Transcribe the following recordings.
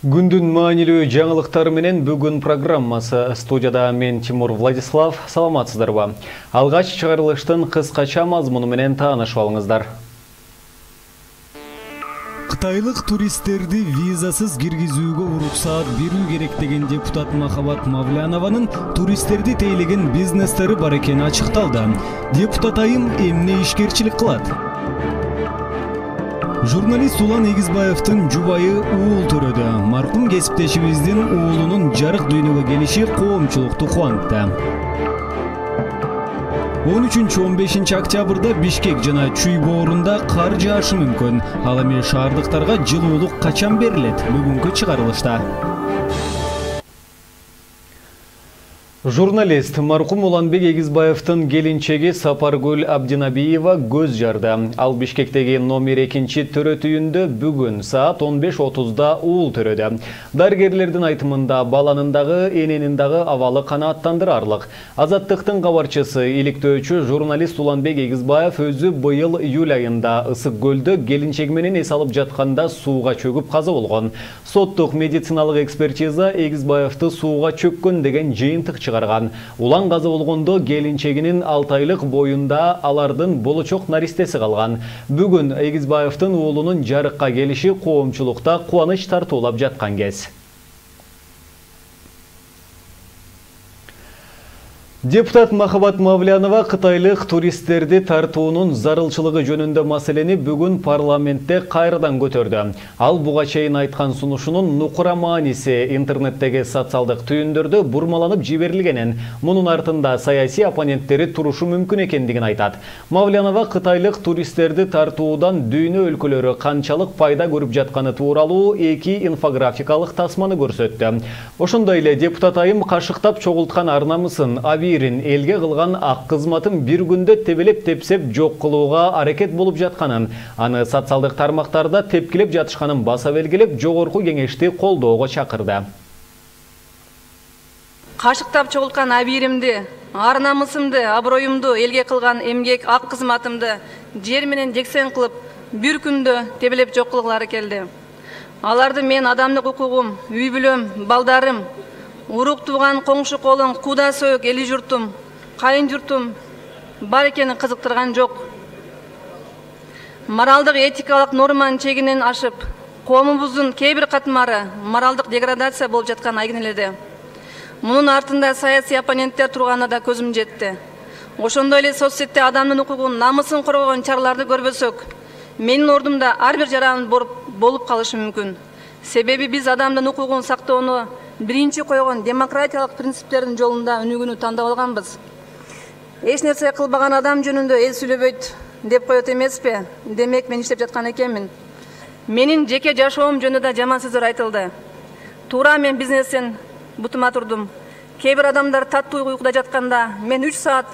Күндүн маанилүү жаңылыктары менен бүгүн программасы. Студияда мен Тимур Владислав. Саламатсыздарбы? Алгач чыгарылыштын кыскача мазмуну менен таанышып алыңыздар. Кытайлык туристтерди визасыз киргизүүгө уруксаат берүү керек деген депутат Махабат Мавлянованын туристтерди тейлеген бизнестери бар экени ачыкталды. Депутат айым эмне ишкерчилик кылат? Журналист Улан Эгизбаевдин жубайы уул төрөдү. Маркум кесиптешибиздин уулунун жарык дүйнөгө келиши коомчулукту кубантты. 13-15 октябрда Бишкек жана Чүй боорунда кар жаашы мүмкүн. Ал эми шаардыктарга жылуулук качан берилет? Бүгүнкү чыгарылышта. Журналист маркум Уланбек Эгизбаевдин келинчеги Сапаргүл Абдинабиева көз жарды. Ал Бишкектеги номер 2 төрөт үйүндө бүгүн саат 15:30да уул төрөдү. Дарыгерлердин айтымында баланын дагы эненин дагы абалы канааттандырарлык. Азаттыктын кабарчысы иликтөөчү журналист Уланбек Эгизбаев өзү быйыл июль айында Ысык көлдө келинчеги менен эс алып жатканда сууга чөгүп каза болгон. Соттук медициналык экспертиза Эгизбаевди сууга чөккөн деген жыйынтык чыгарган. Улан каза болгондо келинчегинин 6 айлык боюнда алардын болочок наристеси калган. Бүгүн Эгизбаевдин уулунун жарыкка келиши коомчулукта кубаныч тартуулап жаткан кез. Депутат Махабат Мавлянова кытайлык туристтерди тартуунун зарылчылыгы жөнүндө маселени бүгүн парламентте кайрадан көтөрдү. Ал буга чейин айткан сунушунун нукура мааниси интернеттеги социалдык түйүндөрдө бурмаланып жиберилгенин, мунун артында саясий оппоненттери турушу мүмкүн экендигин айтат. Мавлянова кытайлык туристтерди тартуудан дүйнө өлкөлөрү канчалык пайда көрүп жатканы тууралуу 2 инфографикалык тасманы көрсөттү. Ошондой эле депутат айым кашыктап чогулткан арнамысын элге кылган ак кызматын бир күндө тебелеп-тепсеп жок кылууга аракет болуп жатканын, аны социалдык тармактарда тепкилеп жатышканын баса белгилеп, жогорку кеңешти колдоого чакырды. Кашыктап чогулткан абийиримди, ар намысымды, аброюмду элге кылган эмгек ак кызматымды жер менен жексен кылып, бир күндө тебелеп жок кылгылары келди. Аларды мен адамдык укугум, үй бүлөм, балдарым, урук тууган коңшу колуң, куда сөөк эли журтум, кайын журтум бар экенин кызыктырган жок. Моралдык этикалык норманын чегинен ашып, коомубуздун кээ бир катмары моралдык деградация болуп жаткан айгин эледи. Мунун артында саясий оппоненттер турганына да көзүм жетти. Ошондой эле соцсетте адамдын укугун, намысын коргогон чараларды көрбөсөк, менин ордумда ар бир жаран болуп калышы мүмкүн. Себеби биз адамдын укугун сактоону биринчи койгон демократиялык принциптердин жолунда өнүгүүнү тандап алганбыз. Эч нерсе кылбаган адам жөнүндө эл сүйлөбөйт деп коет эмеспи? Демек мен иштеп жаткан экенмин. Менин жеке жашоом жөнүндө да жаман сөздөр айтылды. Туура мен бизнестен бутума турдум. Кээ бир адамдар таттуу уйкуда жатканда мен 3 саат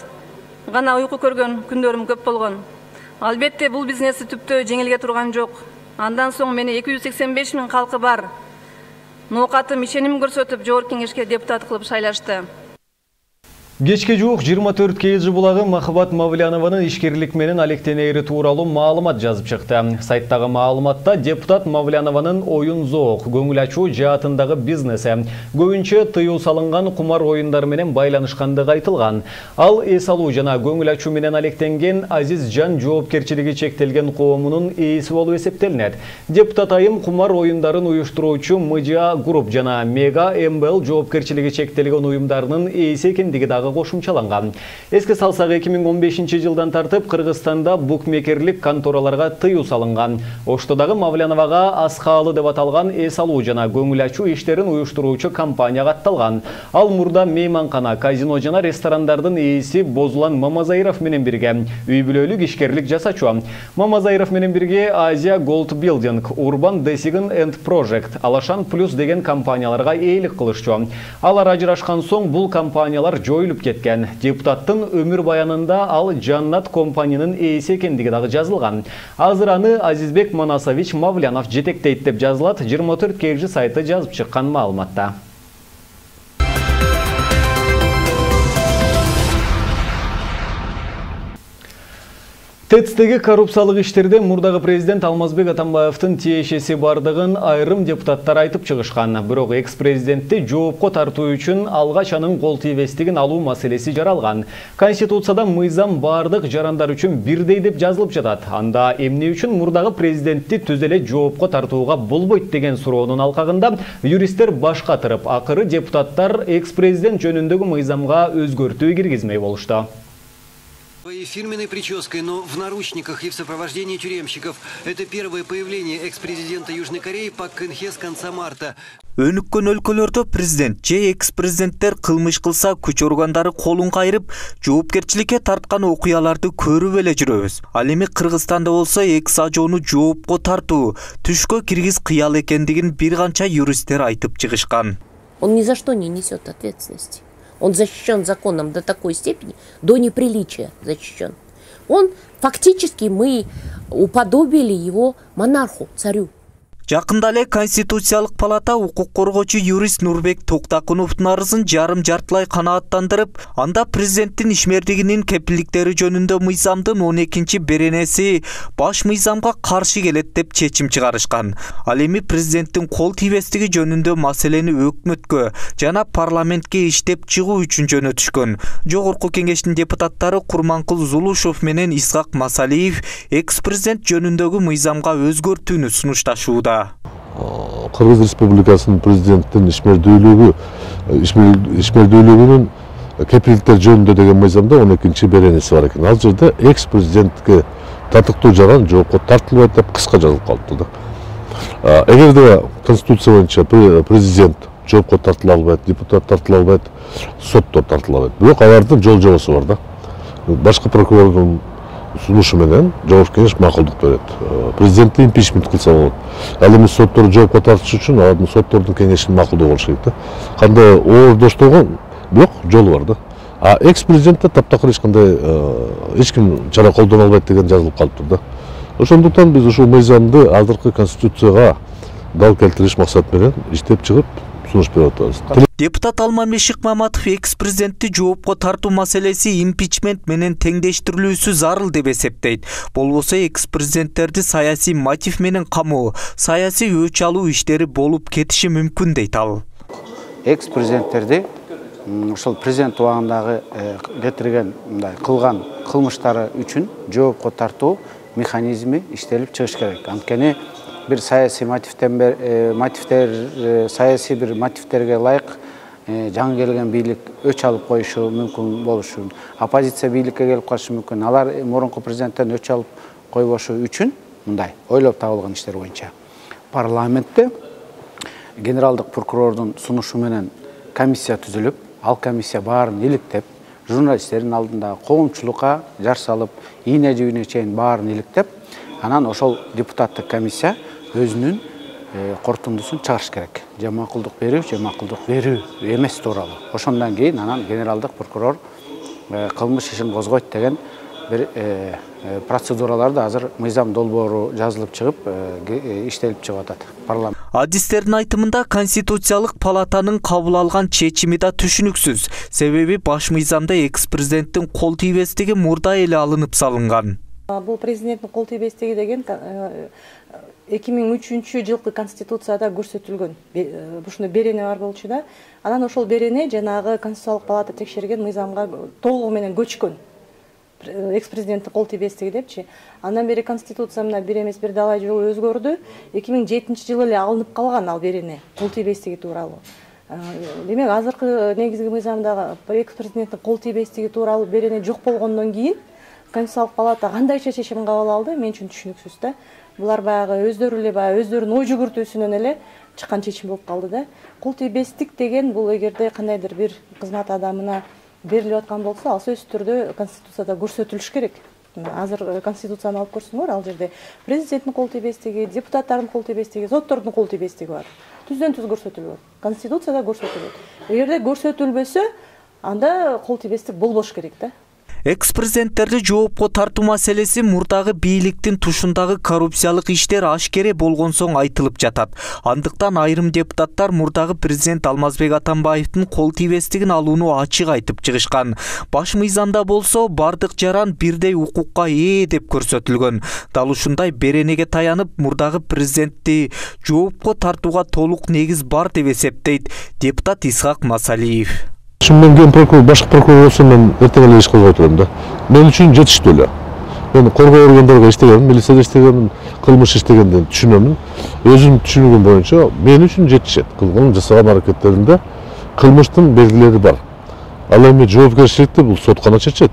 гана уйку көргөн күндөрүм көп болгон. Албетте бул бизнести түптө жеңилге турган жок. Андан соң мени 285 000 калкы бар ноокатым ишеним көрсөтүп жогорку кеңешке депутат кылып шайлашты. Кечке жуук 24 КЖ булагы Махабат Мавлянованын ишкерлик менен алектенери тууралуу маалымат жазып чыкты. Сайттагы маалыматта депутат Мавлянованын оюн зоок, көңүл ачуу жаатындагы бизнеси көбүнчө тыюу салынган кумар оюндар менен байланышкандыгы айтылган. Ал эс алуу жана көңүл ачуу менен алектенген Азиз Жан жоопкерчилиги чектелген коомунун ээси болуп эсептелинет. Депутат айым кумар оюндарын уюштуруучу МЖА Групп жана Мега МБЛ жоопкерчилиги чектелген уюмдарынын ээси экендиги дагы кошумчаланган. Эске салсак 2015 жылдан тартып Кыргызстанда букмекерлик контораларга тыюу салынган. Оштодагы Мавляновага Аскаалы деп аталган эс алуу жана көңүл ачуу иштерин уюштуруучу компания катталган. Ал мурда мейманкана, казино жана ресторандардын ээси Бозулан Мамазайров менен бирге үй бүлөлүк ишкерлик жасачу. Мамазайров менен бирге Азия Gold Building, Urban Design and Project, Алашан Плюс деген компанияларга ээлик кылышчу. Алар ажырашкан соң бул компаниялар жоюлуп кеткен. Депутаттын өмүр баянында ал Жаннат компаниянын ээси экендиги дагы жазылган. Азыр аны Азизбек Манасович Мавлянов жетектейт деп жазылат 24 КЖ сайты жазып чыккан маалыматта. ТЭЦтеги коррупциялык иштерде мурдагы президент Алмазбек Атамбаевдин тиешеси бардыгын айрым депутаттар айтып чыгышкан. Бирок экс-президентти жоопко тартуу үчүн алгач анын кол тийбестигин алуу маселеси жаралган. Конституцияда мыйзам бардык жарандар үчүн бирдей деп жазылып жатат. Анда эмне үчүн мурдагы президентти түз эле жоопко тартууга болбойт деген суроонун алкагында юристтер баш катырып, акыры депутаттар экс-президент жөнүндөгү мыйзамга өзгөртүү киргизмей болушту. Своей фирменной прической, но в наручниках и в сопровождении тюремщиков. Это первое появление экс-президента Южной Кореи Пак Кын Хе с конца марта. Өнүккөн өлкөлөрдө президент же экс-президенттер кылмыш кылса күч органдары колун кайрып, жоопкерчиликке тарткан окуяларды көрүп эле жүрөбүз. Ал эми Кыргызстанда болсо экс-ажоону жоопко тартуу түшкө киргиз кыял экендигин бир канча юристтер айтып чыгышкан. Он ни за что не несет ответственности. Он защищен законом до такой степени, до неприличия защищен. Он фактически мы уподобили его монарху, царю. Жакында эле Конституциялык палата укук коргоочу юрист Нурбек Токтакуновдун арызын жарым жартылай канааттандырып, анда президенттин ишмердигинин кепилдиктери жөнүндө мыйзамдын 12-беренеси баш мыйзамга каршы келет деп чечим чыгарышкан. Ал эми президенттин кол тийбестиги жөнүндө маселени өкмөткө жана парламентке иштеп чыгуу үчүн жөнөтүшкөн. Жогорку кеңештин депутаттары Курманкул Зулушев менен Исхак Масалиев экс-президент жөнүндөгү мыйзамга өзгөртүүнү сунушташууда. Кыргыз Республикасынын президенттин ишмердүүлүгүнүн кепилдиктер жөнүндө деген мыйзамда 12-беренеси бар экен. Ал жерде экс-президентке татыктуу жаран жоопко тартылбайт деп кыска жазылып калыпты да. Эгерде Конституция боюнча президент жоопко тартыла албайт, депутат тартыла албайт, соттор тартыла албайт. Бирок алардын жол жобосу бар да. Башкы прокурордун сунушу менен Жогорку кеңеш макулдук берет. Президентти импичмент кылса болот. Ал эми сотторду жоопко тартыш үчүн алардын соттордун кеңешинин макулдугу болуш керек да. Кандай оордоштогон бирок жолу бар да. А экс-президентте таптакыр эч ким чара колдоно албайт деген жазылып калыптыр да. Ошондуктан биз ушул мыйзамды азыркы Конституцияга дал келтириш максат менен иштеп чыгып сунуш берип атабыз. Депутат Алмамбет Шыкмаматов экс-президентти жоопко тартуу маселеси импичмент менен теңдештирилүүсү зарыл деп эсептейт. Болбосо экс-президенттерди саясий мотив менен камоо, саясий өч алуу иштери болуп кетиши мүмкүн дейт ал. Экс-президенттерди ошол президент убагындагы кетирген мындай кылган кылмыштары үчүн жоопко тартуу механизми иштелип чыгыш керек. Анткени bir siyasi siyasi bir motivlerge layık жаңы келген бийлик өч алып коюшу мүмкүн болушу, оппозиция бийликке келип калышы мүмкүн. Алар мурунку президенттен өч алып койбошу үчүн мындай ойлоп табылган иштер боюнча парламентте генералдык прокурордун сунушу менен комиссия түзүлүп, ал комиссия баарын иликтеп, журналисттердин алдында коомчулукка жар салып, ийне жибине чейин баарын иликтеп, анан ошол депутаттык комиссия өзүнүн корутундусун чыгарыш керек. Же макулдук берүү, же макулдук берүү эмес тууралуу. Ошондон кийин анан генералдык прокурор кылмыш ишин козгойт деген бир процедураларды азыр мыйзам долбоору жазылып чыгып, иштелип чыгып атат парламент. Адистердин айтымында Конституциялык палатанын кабыл алган чечими да түшүнүксүз. Себеби баш мыйзамда экс-президенттин кол тийбестиги мурда эле алынып салынган. Бул президенттин кол тийбестиги деген 2003 жылкы Конституцияда көрсөтүлгөн. Ушундай берене бар болчу да. Анан ошол берене жанагы Конституциялык палата текшерген мыйзамга толугу менен көчкөн. Экс-президенттин кол тийбестиги депчи. Андан бери Конституция мына бир эмес бир далай жолу өзгөрдү. 2007-жылы эле алынып калган ал берене кол тийбестиги тууралуу. Демек азыркы негизги мыйзамдагы экс-президенттин кол тийбестиги тууралуу берене жок болгондон кийин Конституциялык палата кандайча чечим кабыл алды, мен үчүн түшүнүксүз да. Булар баягы өздөрү эле өздөрүнүн ой жүгүртүүсүнөн эле чыккан чечим болуп калды да. Кол тийбестик деген бул эгерде кандайдыр бир кызмат адамына берилип аткан болсо, ал сөзсүз түрдө Конституцияда көрсөтүлүш керек. Азыр Конституцияны алып көрсөңөр, ал жерде президенттин кол тийбестиги, депутаттардын кол тийбестиги, соттордун кол тийбестиги бар. Түздөн түз көрсөтүлгөн. Конституцияда көрсөтүлөт. Эгерде көрсөтүлбөсө, анда кол тийбестик болбош керек да. Экс-президенттерди жоопко тартуу маселеси мурдагы бийликтин тушундагы коррупциялык иштер ашкере болгон соң айтылып жатат. Андыктан айрым депутаттар мурдагы президент Алмазбек Атамбаевдин кол тийбестигин алууну ачык айтып чыгышкан. Баш мыйзамда болсо бардык жаран бирдей укукка ээ деп көрсөтүлгөн. Дал ушундай беренеге таянып мурдагы президентти жоопко тартууга толук негиз бар деп эсептейт депутат Исхак Масалиев. Мен ген прокурор, башкы прокурор болсо мен эртең эле иш кылбай турам да. Мен үчүн жетиштүү эле. Мен коргоо органдарга иштегенмин, милицияда иштегенмин, кылмыш иштегенден түшүнөмүн. Өзүм түшүнүгүм боюнча мен үчүн жетишет. Кылган жасаган аракеттеринде кылмыштын белгилери бар. Ал эми жоопкерчиликти бул сот гана чечет.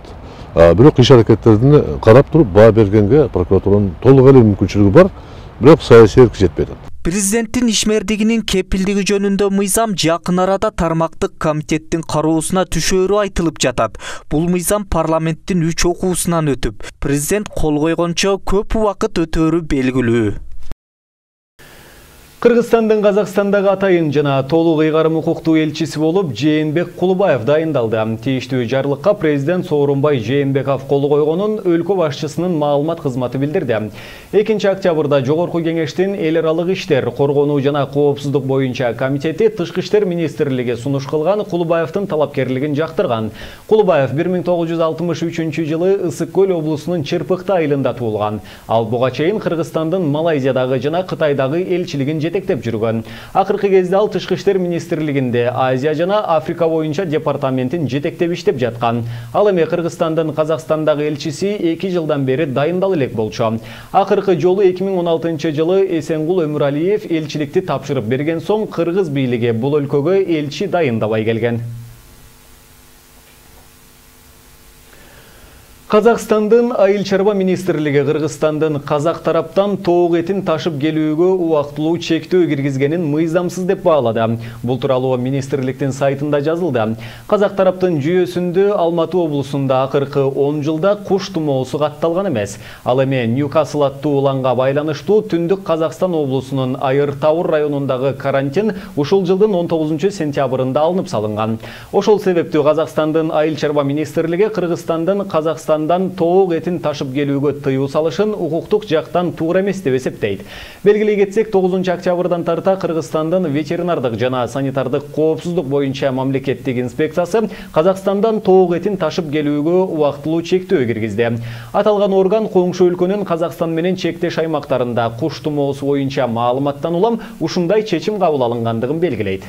Бирок иш аракеттерине карап туруп баа бергенге прокуратуранын толук эле мүмкүнчүлүгү бар, бирок саясий эрк жетпей атат. Президенттин ишмердигинин кепилдиги жөнүндө мыйзам жакын арада тармактык комитеттин кароосуна түшөөрү айтылып жатат. Бул мыйзам парламенттин 3 окуусунан өтүп, президент кол койгончо көп убакыт өтөөрү белгилүү. Кыргызстандын Казакстандагы атайын жана толук ыйгарым укуктуу элчиси болуп Жээнбек Кулубаев дайындалды. Тийиштүү жарлыкка президент Сооронбай Жээнбеков кол койгонун өлкө башчысынын маалымат кызматы билдирди. 2-октябрда Жогорку кеңештин эл аралык иштер, коргонуу жана коопсуздук боюнча комитети Тышкы иштер министрлиги сунуш кылган Кулубаевдин талапкерлигин жактырган. Кулубаев 1963 жылы Ысык көл облусунун Чырпыкты айылында туулган. Ал буга чейин Кыргызстандын Малайзиядагы жана Кытайдагы элчилигин жетектеп жүргөн. Акыркы кезде ал Тышкы иштер министрлигинде Азия жана Африка боюнча департаментин жетектеп иштеп жаткан. Ал эми Кыргызстандын Казакстандагы элчиси 2 жылдан бери дайындал элек болчу. Акыркы жолу 2016 жылы Эсенгул Өмүралиев элчиликти тапшырып берген соң кыргыз бийлиги бул өлкөгө элчи дайындабай келген. Казакстандын айыл чарба министрлиги Кыргызстандын казак тараптан тоок этин ташып келүүгө убактылуу чектөө киргизгенин мыйзамсыз деп баалады. Бул тууралуу министрликтин сайтында жазылды. Казак тараптын жүйөсүндө Алматы облусунда акыркы 10 жылда куш тумоосу катталган эмес. Ал эми Ньюкасл аттуу уланга байланыштуу Түндүк Казакстан облусунун Айыр Таур районундагы карантин ушул жылдын 19 сентябрында алынып салынган. Ошол себептүү Казакстандын айыл чарба министрлиги Кыргызстандын Казакстан тоок этин ташып келүүгө тыюу салышын укуктук жактан туура эмес деп эсептейт. Белгилей кетсек, 9 октябрдан тарта Кыргызстандын ветеринардык жана санитардык коопсуздук боюнча мамлекеттик инспекциясы Казакстандан тоок этин ташып келүүгө убактылуу чектөө киргизди. Аталган орган коңшу өлкөнүн Казакстан менен чектеш аймактарында куш тумоосу боюнча маалыматтан улам ушундай чечим кабыл алынгандыгын белгилейт.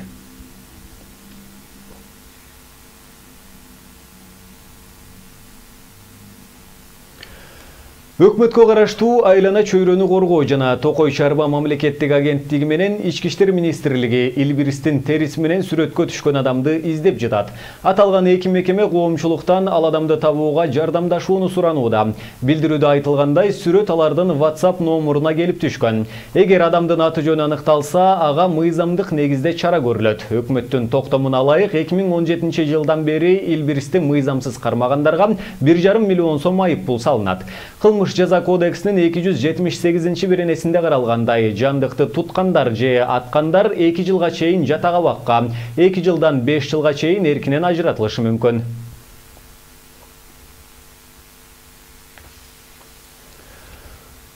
Өкмөткө караштуу айлана чөйрөнү коргоо жана Токой чарба мамлекеттик агенттиги менен Ички иштер министрлиги Илбиристин териси менен сүрөткө түшкөн адамды издеп жатат. Аталган эки мекеме коомчулуктан ал адамды табууга жардамдашууну суранууда. Билдирүүдө айтылгандай, сүрөт алардын WhatsApp номуруна келип түшкөн. Эгер адамдын аты жөнү аныкталса, ага мыйзамдык негизде чара көрүлөт. Өкмөттүн токтомуна ылайык 2017 жылдан бери Илбиристи мыйзамсыз кармагандарга 1,5 миллион сом айып пул салынат. Жаза кодексинин 278 беренесинде каралгандай, жандыкты туткандар же аткандар 2 жылга чейин жатак абакка, 2 жылдан 5 жылга чейин эркинен ажыратылышы мүмкүн.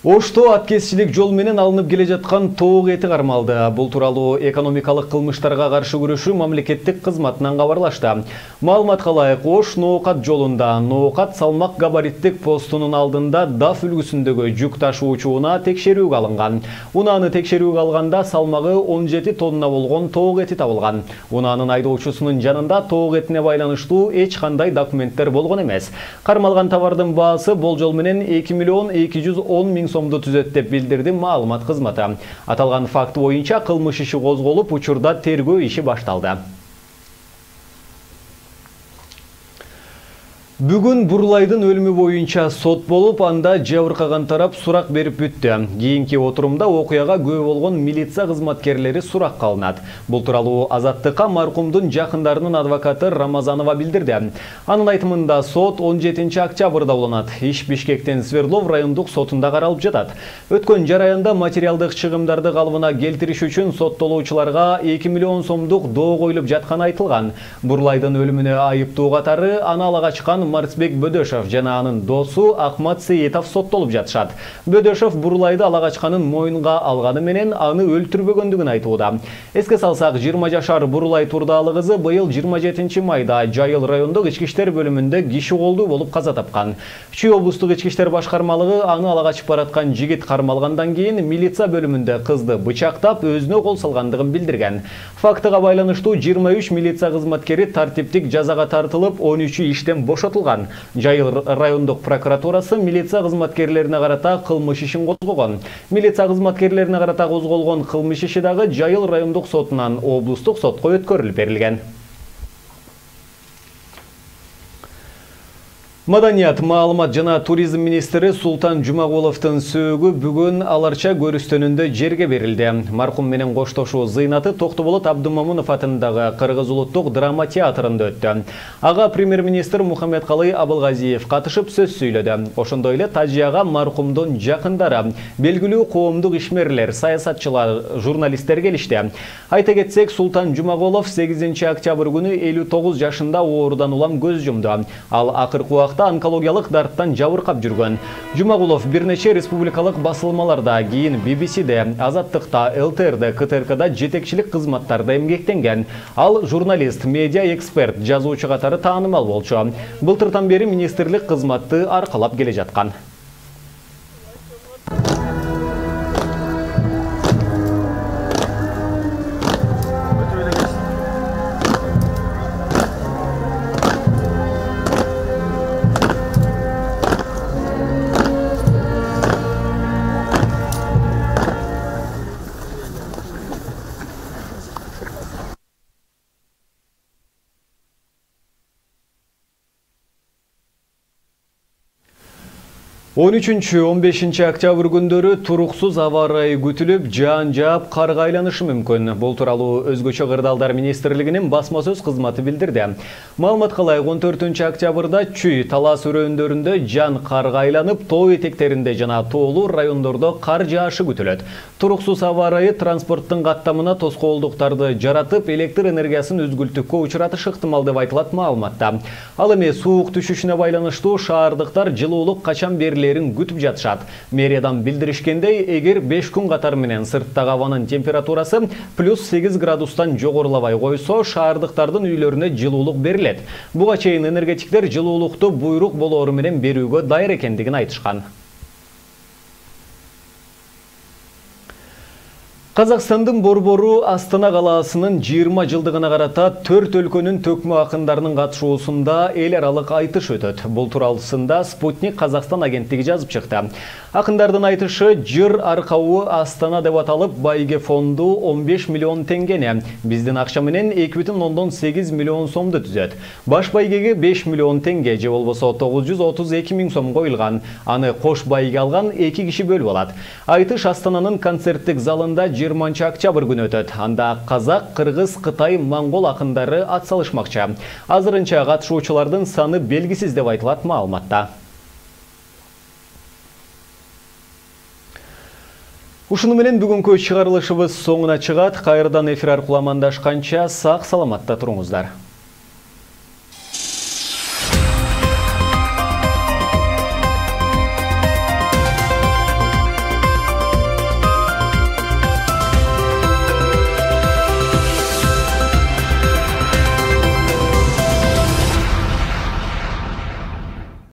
Ошто аткезчилик жол менен алынып келе жаткан тоок эти кармалды. Бул тууралуу экономикалык кылмыштарга каршы күрөшүү мамлекеттик кызматынан кабарлашты. Маалыматка ылайык, Ош Ноокат жолунда Ноокат салмак габариттик постунун алдында даф үлгүсүндөгү жүк ташуучууна текшерүүгө алынган. Унааны текшерүүгө алганда салмагы 17 тонна болгон тоок эти табылган. Унаанын айдоочусунун жанында тоок этине байланыштуу эч кандай документтер болгон эмес. Кармалган товардын баасы болжол менен 2 миллион 210 миң сомду түзөт деп билдирди маалымат кызматы. Аталган факт боюнча кылмыш иши козголуп, учурда тергөө иши башталды. Бүгүн Бурлайдын өлүмү боюнча сот болуп, анда жабыркаган тарап сурак берип бүттү. Кийинки отурумда окуяга күбө болгон милиция кызматкерлери суракка алынат. Бул тууралуу Азаттыкка маркумдун жакындарынын адвокаты Рамазанова билдирди. Анын айтымында сот 17 октябрда уланат. Иш Бишкектин Свердлов райондук сотунда каралып жатат. Өткөн жараянда материалдык чыгымдарды калыбына келтириш үчүн соттолуучуларга 2 миллион сомдук доо коюлуп жатканы айтылган. Бурлайдын өлүмүнө айыптуу катары аны ала качкан Марсбек Бөдөшов жана анын досу Ахмат Сейитов соттолуп жатышат. Бөдөшов Бурлайды ала качканын мойнунга алганы менен аны өлтүрбөгөндүгүн айтууда. Эске салсак, 20 жашар Бурлай Турдалы кызы быйыл 27 майда Жайыл райондук ички иштер бөлүмүндө киши колдуу болуп каза тапкан. Чүй облустук ички иштер башкармалыгы аны ала качып бараткан жигит кармалгандан кийин милиция бөлүмүндө кызды бычактап өзүнө кол салгандыгын билдирген. Фактыга байланыштуу 23 милиция кызматкери тартиптик жазага тартылып, 13-ü иштен бошотулган. Жайыл райондук прокуратурасы милиция кызматкерлерине карата кылмыш ишин козгогон. Милиция кызматкерлерине карата козголгон кылмыш иши дагы Жайыл райондук сотунан облустук сотко өткөрүлүп берилген. Маданият, маалымат жана туризм министри Султан Жумагуловдун сөөгү бүгүн аларча көрүстөнүндө жерге берилди. Маркум менен коштошуу зыйнаты Токтоболот Абдымамунов атындагы Кыргыз улуттук драма театрында өттү. Ага премьер-министр Мухаммедкалый Абылгазиев катышып сөз сүйлөдү. Ошондой эле тажыяга маркумдун жакындары, белгилүү коомдук ишмерлер, саясатчылар, журналисттер келишти. Айта кетсек, Султан Жумагулов 8 октябрь күнү 59 жашында оорудан улам көз жумду. Ал акыркы убакта онкологиялык дарттан жабыркап жүргөн. Жумагулов бир нече республикалык басылмаларда, кийин BBC-де, Азаттыкта, ЛТР-де, КТРК-да жетекчилик кызматтарда эмгектенген. Ал журналист, медиа эксперт, жазуучу катары таанымал болчу. Былтыртан бери министрлик кызматты аркалап келе жаткан. Он 13-15 октябрь күндөрү туруксуз аба ырайы күтүлүп, жаан жаап, карга айланышы мүмкүн. Бул тууралуу Өзгөчө кырдаалдар министрлигинин басма сөз кызматы билдирди. Маалымат кылайык, 14 октябрда Чүй, Талас өрөөндөрүндө жан карга айланып, тоо этектеринде жана тоолуу райондордо кар жаашы күтүлөт. Туруксуз аба ырайы транспорттун каттамына тоскоолдуктарды жаратып, электр энергиясын үзгүлтүккө учуратышы ыктымал деп айтылат маалыматта. Ал эми суук түшүшүнө байланыштуу шаардыктар жылуулук качан берилерин күтүп жатышат. Мэриядан билдиришкендей, эгер 5 күн катары менен сырттагы абанын температурасы +8 градустан жогорулабай койсо, шаардыктардын үйлөрүнө жылуулук берилет. Буга чейин энергетиктер жылуулукту буйрук болоору менен берүүгө дайыр экендигин айтышкан. Казакстандын борбору Астана калаасынын 20 жылдыгына карата 4 өлкөнүн төкмө акындарынын катышуусунда эл аралык айтыш өтөт. Бул тууралуусунда Спутник Казакстан агенттиги жазып чыкты. Акындардын айтышы жыр аркабы Астана деп аталып, байге фонду 15 миллион теңгени, биздин акча менен 2,8 миллион сомду түзөт. Баш байгеге 5 миллион теңге же болбосо 932 миң сом коюлган. Аны кош байге алган 2 киши бөлүп алат. Айтыш Астананын концерттик залында 20 октябрь күнү өтөт. Анда казак, кыргыз, кытай, монгол акындары ат салышмакчы. Азырынча катышуучулардын саны белгисиз деп айтылат маалыматта. Ушуну менен бүгүнкү чыгарылышыбыз соңуна чыгат. Кайрадан эфир аркылуу амандашканча сак саламатта туруңуздар.